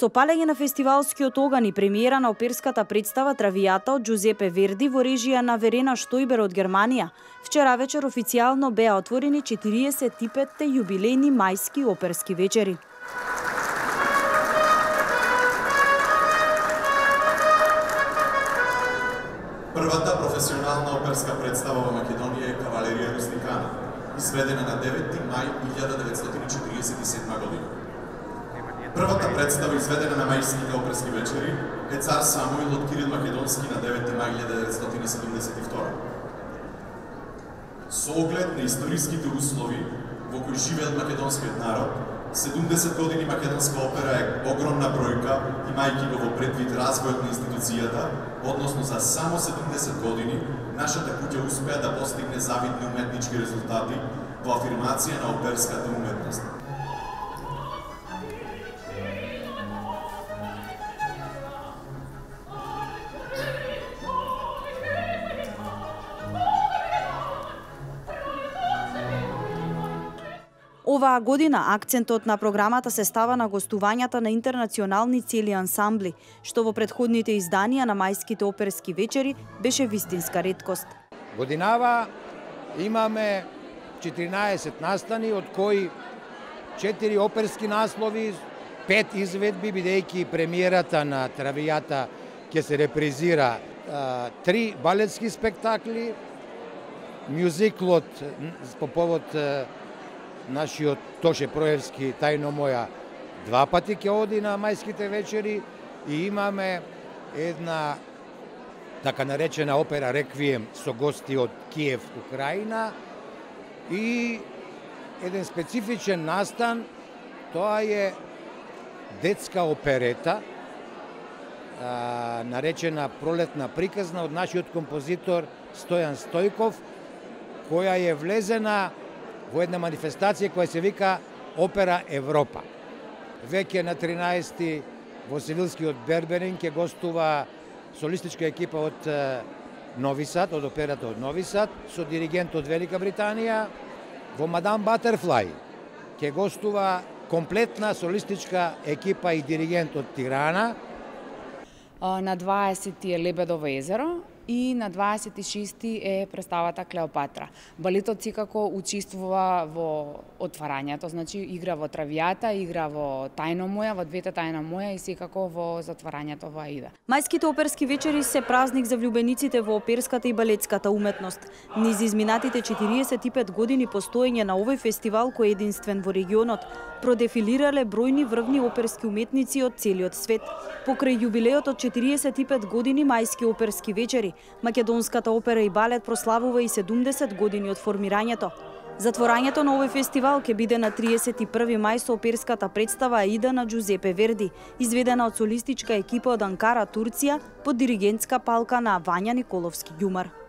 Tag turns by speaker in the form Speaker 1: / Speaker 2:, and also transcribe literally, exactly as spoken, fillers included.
Speaker 1: Со палење на фестивалскиот оган и премиера на оперската представа Травијата од Џузепе Верди во режија на Верена Штојбер од Германија, вчера вечер официјално беа отворени четириесет и петте јубилејни мајски оперски вечери.
Speaker 2: Првата професионална оперска представа во Македонија е Кавалерија Рустикана, изведена на деветти мај илјада деветстотини четириесет и седма година. Првата представа изведена на мајските оперски вечери е Цар Самуил од Кирил Македонски на деветти мај илјада деветстотини седумдесет и втора. Со оглед на историските услови во кои живеел македонскиот народ, седумдесет години македонска опера е огромна бројка, имајќи го во предвид развојот на институцијата, односно за само седумдесет години, нашата куќа успеа да постигне завидни уметнички резултати во афирмација на оперската уметност.
Speaker 1: Оваа година акцентот на програмата се става на гостувањата на интернационални цели ансамбли, што во претходните изданија на мајските оперски вечери беше вистинска реткост.
Speaker 3: Годинава имаме четиринаесет настани, од кои четири оперски наслови, пет изведби, бидејќи премиерата на Травијата ќе се репризира, три балетски спектакли, мюзиклот по повод нашиот Тоше Проевски Тајно моја два пати ќе оди на мајските вечери и имаме една така наречена опера Реквием со гости од Киев, Украина и еден специфичен настан, тоа е детска оперета а, наречена Пролетна приказна од нашиот композитор Стојан Стојков, која е влезена во една манифестација која се вика Опера Европа. Веќе на тринаесети во Севилскиот Берберин ќе гостува солистичка екипа од Нови Сад, од операта од Нови Сад, со диригент од Велика Британија. Во Мадам Батерфлај ќе гостува комплетна солистичка екипа и диригент од Тирана.
Speaker 4: На дваесети е Лебедово езеро и на дваесет и шести е представата Клеопатра. Балетот секако учествува во отварањето, значи игра во Травијата, игра во Тајно моја, во двете Тајна моја и секако во затварањето во Аида.
Speaker 1: Мајските оперски вечери се празник за влюбениците во оперската и балетската уметност. Низ изминатите четириесет и пет години постоење на овој фестивал кој е единствен во регионот, продефилирале бројни врвни оперски уметници од целиот свет. Покрај јубилеот од четириесет и пет години мајски оперски вечери, македонската опера и балет прославува и седумдесет години од формирањето. Затворањето на овој фестивал ќе биде на триесет и први мај со оперската представа Аида на Џузепе Верди, изведена од солистичка екипа од Анкара, Турција, под диригентска палка на Вања Николовски Ѓумар.